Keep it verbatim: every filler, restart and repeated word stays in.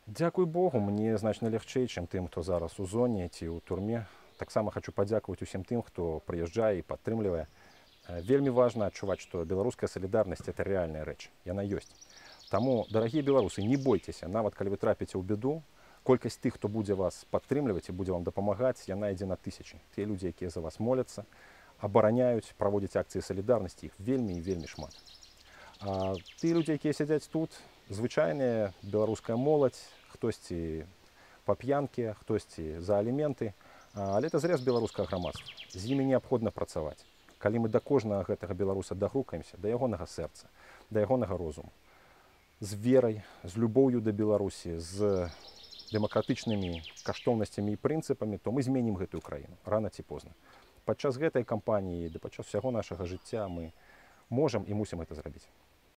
Дзякуй Богу, мне значна лягчэй, чым тым, хто зараз у зоне ці ў турме. Таксама хочу падзякаваць усім тым, хто прыязджае і падтрымлівае. Э, Вельмі важна адчуваць, што беларуская салідарнасць это рэальная рэч. Яна ёсць. Таму, дарагія беларусы, не бойцеся, нават калі вы трапіце ў бяду, колькасць тых, хто будзе вас падтрымліваць і будзе вам дапамагаць, яна ідзе на тысячы. Тыя людзі, якія за вас моляцца, абараняюць, праводзяць акцыі салідарнасці, іх вельмі і вельмі шмат. А тыя людзі, якія сядзяць тут, звычайная беларуская моладзь, хтосьці па п'янкі, хтосьці за аліменты, але это зрэз беларускага грамадства. З імі неабходна працаваць. Калі мы да кожнага гэтага беларуса дагрукаемся, да ягонага сэрца, да ягонага розуму, з верай, з любоўю да Беларусі, з дэмакратычнымі каштоўнасцямі і прынцыпамі, то мы зменім гэтую краіну рана ці позна. Падчас гэтай кампаніі, да падчас усяго нашага жыцця мы можам і мусім гэта зрабіць.